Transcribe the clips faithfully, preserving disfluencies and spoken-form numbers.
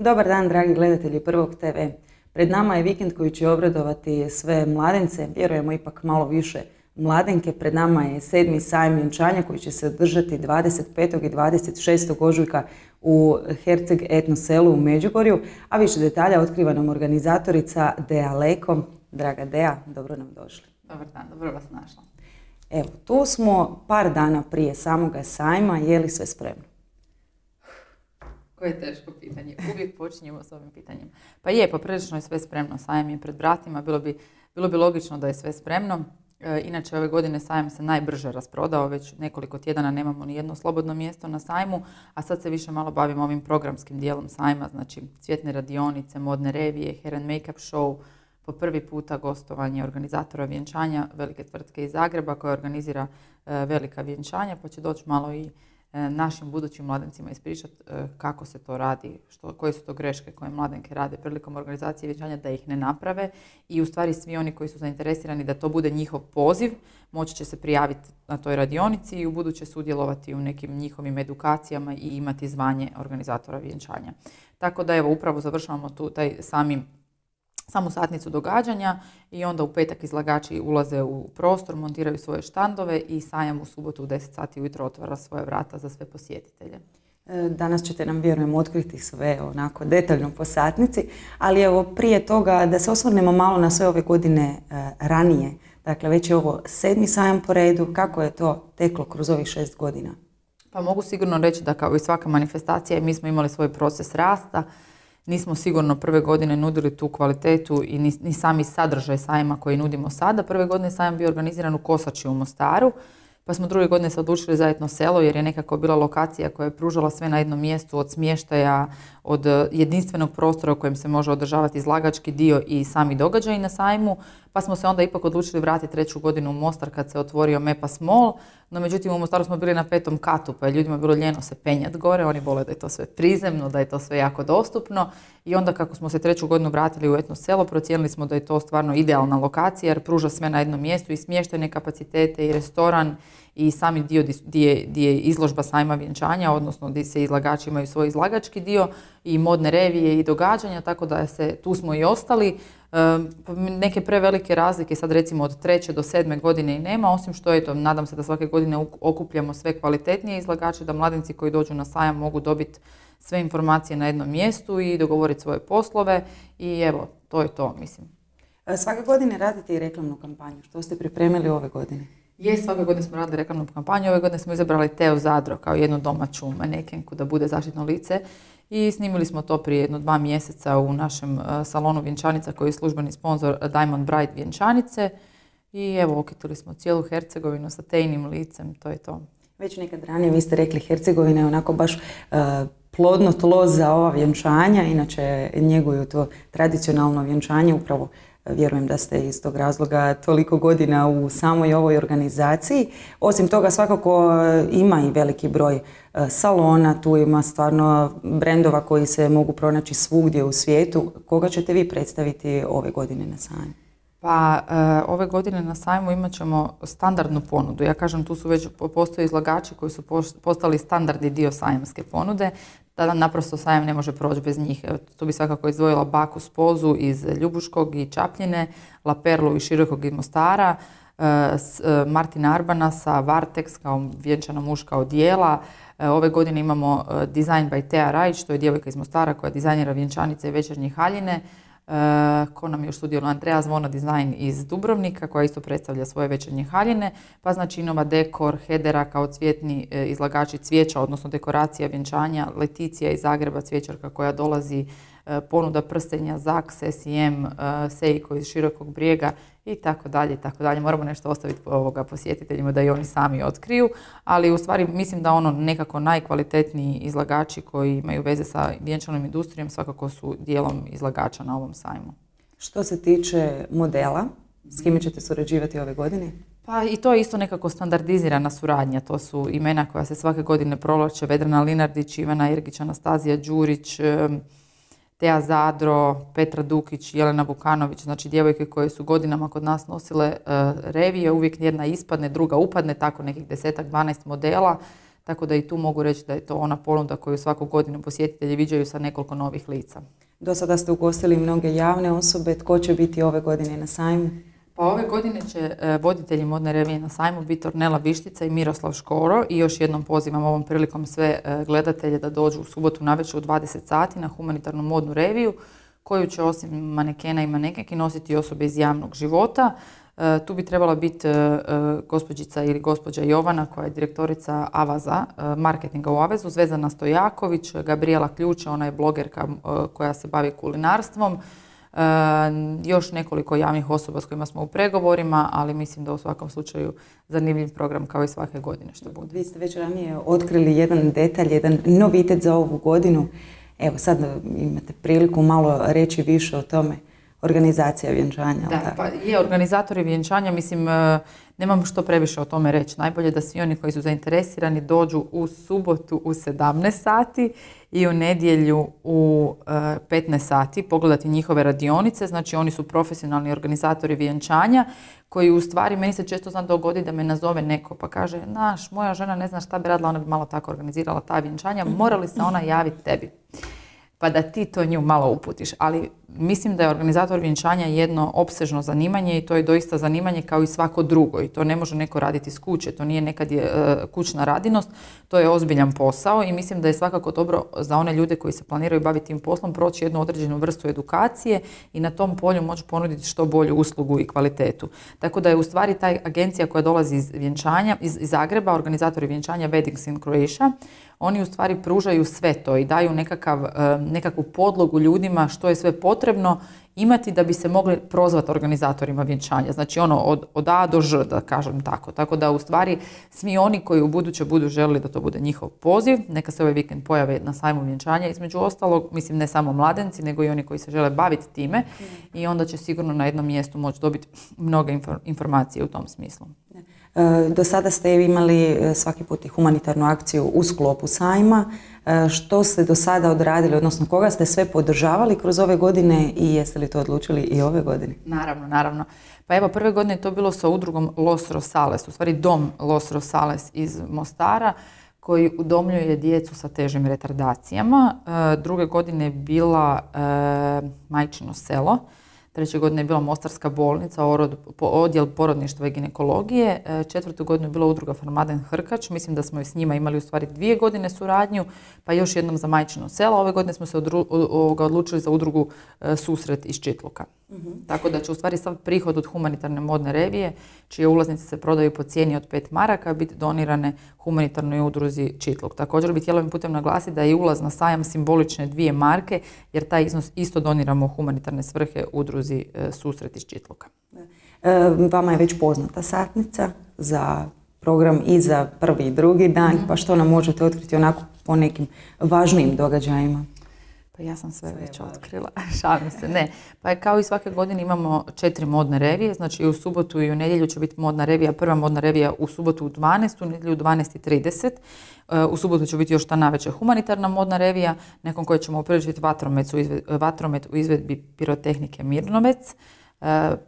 Dobar dan, dragi gledatelji Prvog te ve. Pred nama je vikend koji će obradovati sve mladence, vjerujemo ipak malo više mladenke. Pred nama je sedmi sajam vjenčanja koji će se održati dvadeset petog i dvadeset šestog ožujka u Herceg etno selu u Međugorju, a više detalja otkriva nam organizatorica Dea Leko. Draga Dea, dobro nam došli. Dobar dan, dobro vas našla. Evo, tu smo par dana prije samoga sajma, je li sve spremno? Koje teško pitanje. Uvijek počinjemo s ovim pitanjem. Pa je, poprilično je sve spremno. Sajam je pred vratima. Bilo bi, bilo bi logično da je sve spremno. E, inače, ove godine sajam se najbrže rasprodao. Već nekoliko tjedana nemamo ni jedno slobodno mjesto na sajmu, a sad se više malo bavimo ovim programskim dijelom sajma. Znači, cvjetne radionice, modne revije, hair and make-up show, po prvi puta gostovanje organizatora vjenčanja velike tvrtke iz Zagreba koja organizira e, velika vjenčanja, pa će doći malo i našim budućim mladencima ispričati kako se to radi, što, koje su to greške koje mladenke rade prilikom organizacije vjenčanja, da ih ne naprave i u stvari svi oni koji su zainteresirani da to bude njihov poziv moći će se prijaviti na toj radionici i u buduće sudjelovati u nekim njihovim edukacijama i imati zvanje organizatora vjenčanja. Tako da evo upravo završavamo tu taj sami samu satnicu događanja i onda u petak izlagači ulaze u prostor, montiraju svoje štandove i sajam u subotu u deset sati ujutro otvara svoje vrata za sve posjetitelje. Danas ćete nam, vjerujem, otkriti sve onako detaljno po satnici, ali evo prije toga da se osvrnemo malo na sve ove godine ranije. Dakle, već je ovo sedmi sajam po redu. Kako je to teklo kroz ovih šest godina? Pa mogu sigurno reći da kao i svaka manifestacija mi smo imali svoj proces rasta. Nismo sigurno prve godine nudili tu kvalitetu i ni, ni sami sadržaj sajma koji nudimo sada. Prve godine sajam bio organiziran u Kosači u Mostaru, pa smo druge godine se odlučili za etno selo jer je nekako bila lokacija koja je pružala sve na jednom mjestu, od smještaja, od jedinstvenog prostora u kojem se može održavati izlagački dio i sami događaji na sajmu, pa smo se onda ipak odlučili vratiti treću godinu u Mostar kad se otvorio Mepas Mall, no međutim u Mostaru smo bili na petom katu pa je ljudima bilo ljeno se penjati gore, oni vole da je to sve prizemno, da je to sve jako dostupno i onda kako smo se treću godinu vratili u etno selo procijenili smo da je to stvarno idealna lokacija jer pruža sve na jednom mjestu i smještajne kapacitete i restoran i sami dio gdje je izložba sajma vjenčanja, odnosno gdje se izlagači imaju svoj izlagački dio i modne revije i događanja, tako da se tu smo i ostali. E, neke prevelike razlike sad recimo od treće do sedme godine i nema, osim što eto, nadam se da svake godine okupljamo sve kvalitetnije izlagače, da mladenci koji dođu na sajam mogu dobiti sve informacije na jednom mjestu i dogovoriti svoje poslove i evo, to je to, mislim. Svake godine radite i reklamnu kampanju. Što ste pripremili ove godine? Je, svake godine smo radili reklamnu kampanju, ove godine smo izabrali Teo Zadro kao jednu domaću manekenku da bude zaštitno lice i snimili smo to prije jedno dva mjeseca u našem uh, salonu vjenčanica koji je službeni sponsor Diamond Bride vjenčanice i evo okitili smo cijelu Hercegovinu sa Tejnim licem, to je to. Već nekad ranije vi ste rekli Hercegovina je onako baš uh, plodno tlo za ova vjenčanja, inače njeguju to tradicionalno vjenčanje upravo. Vjerujem da ste iz tog razloga toliko godina u samoj ovoj organizaciji. Osim toga svakako ima i veliki broj salona, tu ima stvarno brendova koji se mogu pronaći svugdje u svijetu. Koga ćete vi predstaviti ove godine na sajmu? Pa e, ove godine na sajmu imat ćemo standardnu ponudu. Ja kažem tu su već postoje izlagači koji su postali standardni dio sajamske ponude. Tada naprosto sajam ne može proći bez njih. Evo, tu bi svakako izdvojila Baku Spozu iz Ljubuškog i Čapljine, La Perlu iz Širokog iz Mostara, e, s, e, Martina Arbana sa Vartex kao vjenčana muška odijela. E, ove godine imamo e, Design by Tea Rajč, to je djevojka iz Mostara koja dizajnira vjenčanice i večernje haljine. Uh, ko nam još sudjeluje, Andreja Zvona Design iz Dubrovnika koja isto predstavlja svoje večernje haljine, pa znači Nova Dekor, Hedera kao cvjetni e, izlagači cvijeća, odnosno dekoracija vjenčanja, Leticija iz Zagreba, cvjećarka koja dolazi, e, ponuda prstenja, Zaks, S I M, e, Seiko iz Širokog Brijega i tako dalje, i tako dalje. Moramo nešto ostaviti ovoga posjetiteljima da i oni sami otkriju, ali u stvari mislim da ono nekako najkvalitetniji izlagači koji imaju veze sa vjenčanom industrijom svakako su dijelom izlagača na ovom sajmu. Što se tiče modela, s kime ćete surađivati ove godine? Pa i to je isto nekako standardizirana suradnja. To su imena koja se svake godine provlače: Vedrana Linardić, Ivana Ergić, Anastazija Đurić, Tea Zadro, Petra Dukić, Jelena Vukanović, znači djevojke koje su godinama kod nas nosile uh, revije, uvijek jedna ispadne, druga upadne, tako nekih desetak, dvanaest modela. tako da i tu mogu reći da je to ona ponuda koju svaku godinu posjetitelji viđaju sa nekoliko novih lica. Do sada ste ugostili mnoge javne osobe, tko će biti ove godine na sajmu? Pa ove godine će voditelji modne revije na sajmu biti Ornela Vištica i Miroslav Škoro i još jednom pozivam ovom prilikom sve gledatelje da dođu u subotu navečer u dvadeset sati na humanitarnu modnu reviju koju će osim manekena i manekenki nositi osobe iz javnog života. Tu bi trebala biti gospođica ili gospođa Jovana koja je direktorica Avaza, marketinga u Avezu, Zvezdana Stojaković, Gabriela Ključa, ona je blogerka koja se bavi kulinarstvom, još nekoliko javnih osoba s kojima smo u pregovorima, ali mislim da u svakom slučaju zanimljiv program kao i svake godine što bude. Vi ste već ranije otkrili jedan detalj, jedan novitet za ovu godinu. Evo sad imate priliku malo reći više o tome. Organizacija vjenčanja. Da, pa je organizatori vjenčanja, mislim, nemam što previše o tome reći. Najbolje da svi oni koji su zainteresirani dođu u subotu u sedamnaest sati i u nedjelju u petnaest sati pogledati njihove radionice. Znači oni su profesionalni organizatori vjenčanja koji u stvari, meni se često zna dogodi da me nazove neko pa kaže, naš, moja žena ne zna šta bi radila, ona bi malo tako organizirala ta vjenčanja, mora li se ona javiti tebi? Pa da ti to nju malo uputiš. Ali mislim da je organizator vjenčanja jedno opsežno zanimanje i to je doista zanimanje kao i svako drugo. I to ne može neko raditi iz kuće, to nije nekad je uh, kućna radinost, to je ozbiljan posao i mislim da je svakako dobro za one ljude koji se planiraju baviti tim poslom proći jednu određenu vrstu edukacije i na tom polju moći ponuditi što bolju uslugu i kvalitetu. Tako da je u stvari ta agencija koja dolazi iz vjenčanja, iz, iz Zagreba, organizatori vjenčanja Weddings in Croatia, oni u stvari pružaju sve to i daju nekakav, nekakvu podlogu ljudima što je sve potrebno imati da bi se mogli prozvati organizatorima vjenčanja. Znači ono od, od A do Ž, da kažem tako. Tako da u stvari svi oni koji u buduće budu želili da to bude njihov poziv, neka se ovaj vikend pojave na sajmu vjenčanja, između ostalog, mislim ne samo mladenci, nego i oni koji se žele baviti time mm. i onda će sigurno na jednom mjestu moći dobiti mnoge informacije u tom smislu. Do sada ste imali svaki put i humanitarnu akciju u sklopu sajma. Što ste do sada odradili, odnosno koga ste sve podržavali kroz ove godine i jeste li to odlučili i ove godine? Naravno, naravno. Pa evo, prve godine je to bilo sa udrugom Los Rosales, u stvari dom Los Rosales iz Mostara, koji udomljuje djecu sa težim retardacijama. Druge godine je bila e, Majčino selo. Treće godine je bila Mostarska bolnica, odjel porodništva i ginekologije. Četvrtu godinu je bila udruga Farmaden Hrkač. Mislim da smo i s njima imali u stvari dvije godine suradnju, pa još jednom za Majčino selo. Ove godine smo se odru, odlučili za udrugu Susret iz Čitluka. Mm-hmm. Tako da će u stvari sav prihod od humanitarne modne revije, čije ulaznice se prodaju po cijeni od pet maraka, biti donirane humanitarnoj udruzi Čitluk. Također bih htjela ovim putem naglasiti da je ulaz na sajam simbolične dvije marke, jer taj iznos isto doniramo humanitarne svrhe udruzi e, Susret iz Čitluka. E, vama je već poznata satnica za program i za prvi i drugi dan, mm-hmm. pa što nam možete otkriti onako po nekim važnijim događajima? Pa ja sam sve, sve već otkrila, šalim se, ne. Pa kao i svake godine imamo četiri modne revije, znači u subotu i u nedjelju će biti modna revija, prva modna revija u subotu u dvanaest, u nedjelju u dvanaest i trideset. U subotu će biti još ta navečer humanitarna modna revija, nakon koje ćemo upriličiti vatromet u izvedbi pirotehnike Mirnovec.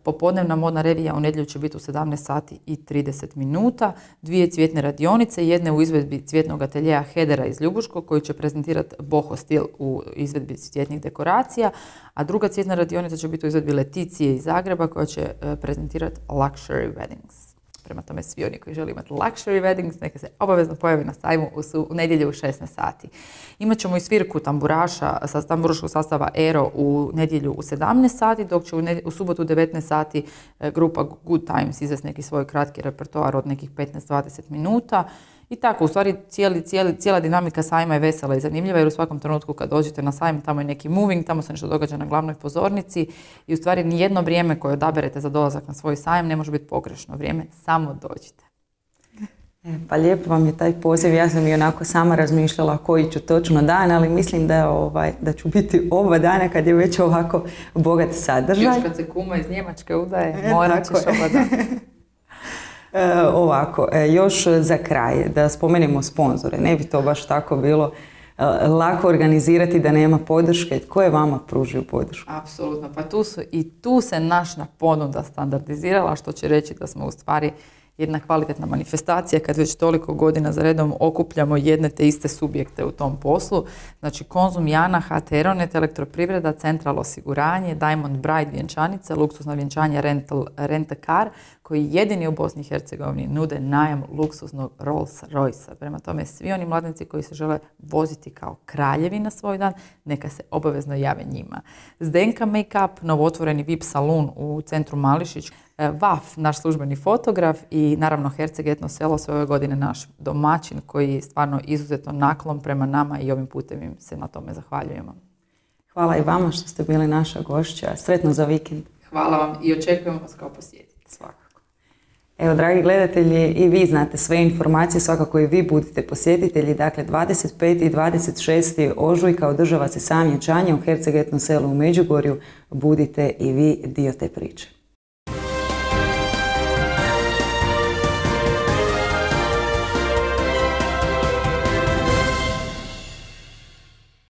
Popodnevna modna revija u nedjelju će biti u sedamnaest sati i trideset minuta, dvije cvjetne radionice, jedne u izvedbi cvjetnog ateljeja Hedera iz Ljubuškog koji će prezentirati boho stil u izvedbi cvjetnih dekoracija, a druga cvjetna radionica će biti u izvedbi Leticije iz Zagreba koja će prezentirati Luxury Weddings. Prema tome svi oni koji žele imati luxury weddings, neka se obavezno pojavi na sajmu u, su, u nedjelju u šesnaest sati. Imaćemo i svirku tamburaša sa tamburaškog sastava Ero u nedjelju u sedamnaest sati, dok će u, nedjelju, u subotu u devetnaest sati e, grupa Good Times izvesti neki svoj kratki repertoar od nekih petnaest do dvadeset minuta. I tako, u stvari cijeli, cijeli, cijela dinamika sajma je vesela i zanimljiva jer u svakom trenutku kad dođete na sajm tamo je neki moving, tamo se nešto događa na glavnoj pozornici i u stvari nijedno vrijeme koje odaberete za dolazak na svoj sajam ne može biti pogrešno vrijeme, samo dođite. E, pa lijepo vam je taj poziv, ja sam i onako sama razmišljala koji ću točno dan, ali mislim da, ovaj, da ću biti oba dana kad je već ovako bogat sadržaj. Još kad se kuma iz Njemačke udaje, e, morat ćeš oba dana. E, ovako, e, još za kraj da spomenemo sponzore. Ne bi to baš tako bilo e, lako organizirati da nema podrške. Tko je vama pružio podršku? Apsolutno, pa tu su, i tu se naša ponuda standardizirala, što će reći da smo u stvari jedna kvalitetna manifestacija kad već toliko godina za redom okupljamo jedne te iste subjekte u tom poslu. Znači Konzum, Jana, Aeronet, Elektroprivreda, Central osiguranje, Diamond Bride vjenčanice, luksuzno vjenčanje Rental, Rent a Car, koji jedini u Bosni i Hercegovini nude najam luksuznog Rolls Royce. Prema tome, svi oni mladnici koji se žele voziti kao kraljevi na svoj dan, neka se obavezno jave njima. Zdenka Make-up, novotvoreni V I P salon u centru Mališić, V A F, naš službeni fotograf i naravno Herceg Etno selo sve ove godine naš domaćin koji je stvarno izuzetno naklon prema nama i ovim putem im se na tome zahvaljujemo. Hvala i vama što ste bili naša gošća. Sretno za vikend. Hvala vam i očekujemo vas kao posjetitelj. Svakako. Evo, dragi gledatelji, i vi znate sve informacije, svakako i vi budite posjetitelji. Dakle, dvadeset peti i dvadeset šesti ožujka održava se sam vjenčanje u Herceg Etno selu u Međugorju. Budite i vi dio te priče.